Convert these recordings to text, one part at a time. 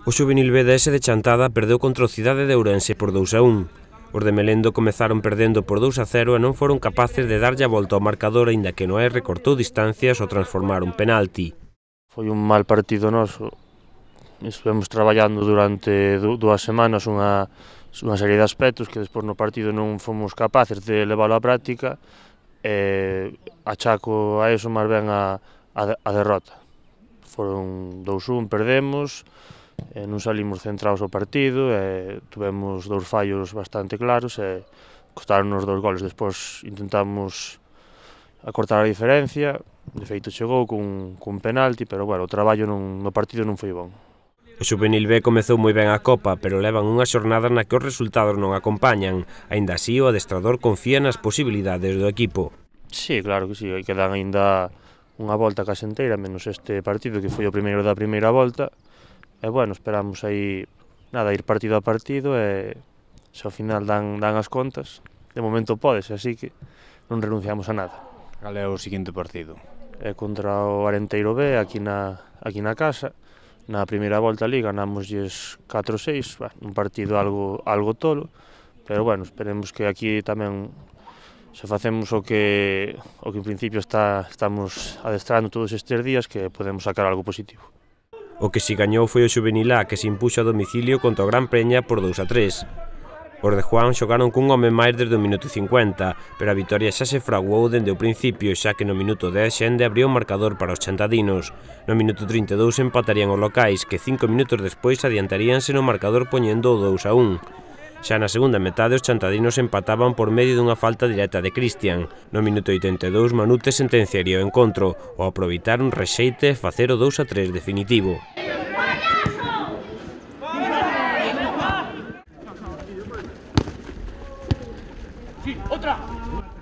O xuvenil B de Chantada perdeu contra o Cidade de Ourense por 2-1. Os de Melendo comezaron perdendo por 2-0 e non foron capaces de darlle a volta ao marcador, aínda que Noé recortou distancias ao transformar un penalti. Foi un mal partido noso. Estivemos traballando durante 2 semanas unha serie de aspectos que despois no partido non fomos capaces de leválo á práctica e achaco a eso máis ben a derrota. Foron 2-1, perdemos, non salimos centrados ao partido e tuvemos 2 fallos bastante claros e costaron os 2 goles. Despois intentamos acortar a diferencia, de feito chegou cun penalti, pero bueno, o traballo no partido non foi bon. O xuvenil B comezou moi ben a Copa, pero levan unha xornada na que os resultados non acompañan. Aínda así, o adestrador confía nas posibilidades do equipo. Sí, claro que sí, quedan aínda unha volta case inteira, menos este partido que foi o primeiro da primeira volta. E bueno, esperamos aí, ir partido a partido e se ao final dan as contas, de momento podes, así que non renunciamos a nada. Cal é o seguinte partido? É contra o Arenteiro B, aquí na casa. Na primeira volta ali ganámoslles 4-6, un partido algo tolo, pero bueno, esperemos que aquí tamén se facemos o que en principio estamos adestrando todos estes días, que podemos sacar algo positivo. O que si gañou foi o xuvenil A, que se impuxo a domicilio contra o Gran Preña por 2-3. Os de Juan xogaron cun home máis desde o minuto 50, pero a vitoria xa se fraguou dende o principio, xa que no minuto 10 Xende abriu o marcador para os chantadinos. No minuto 32 empatarían os locais, que 5 minutos despois adiantaríanse no marcador poñendo o 2-1. Xa na segunda metade os chantadinos empataban por medio dunha falta directa de Cristian. No minuto 82 Manute sentenciaría o encontro, ao aproveitar un rexeite e facer o 2-3 definitivo.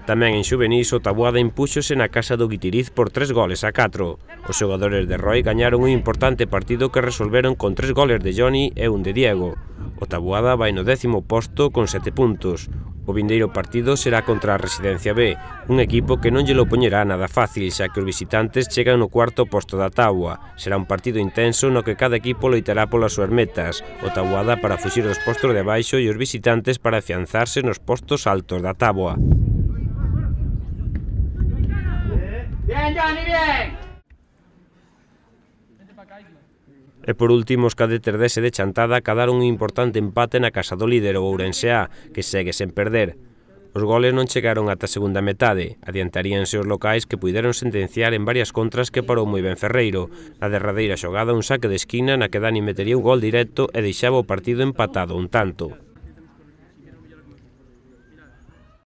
Tamén en xuvenís o Taboada impúxose na casa do Guitiriz por 3-4. Os xogadores de Roy gañaron un importante partido que resolveron con 3 goles de Johnny e un de Diego. O Taboada vai no 10º posto con 7 puntos. O vindeiro partido será contra a Residencia B, un equipo que non lle lo poñerá nada fácil, xa que os visitantes chegan no 4º posto da táboa. Será un partido intenso no que cada equipo loitará polas súas metas, o Taboada para fuxir dos postos de abaixo e os visitantes para afianzarse nos postos altos da táboa. Bien, Johnny, bien! E por último, os cadetes de Chantada acadaron un importante empate na casa do líder, o Ourense A, que segue sen perder. Os goles non chegaron ata a segunda metade, adiantaríanse os locais que puideron sentenciar en varias contras que parou moi ben Ferreiro. Na derradeira xogada un saque de esquina na que Dani metería un gol directo e deixaba o partido empatado un tanto.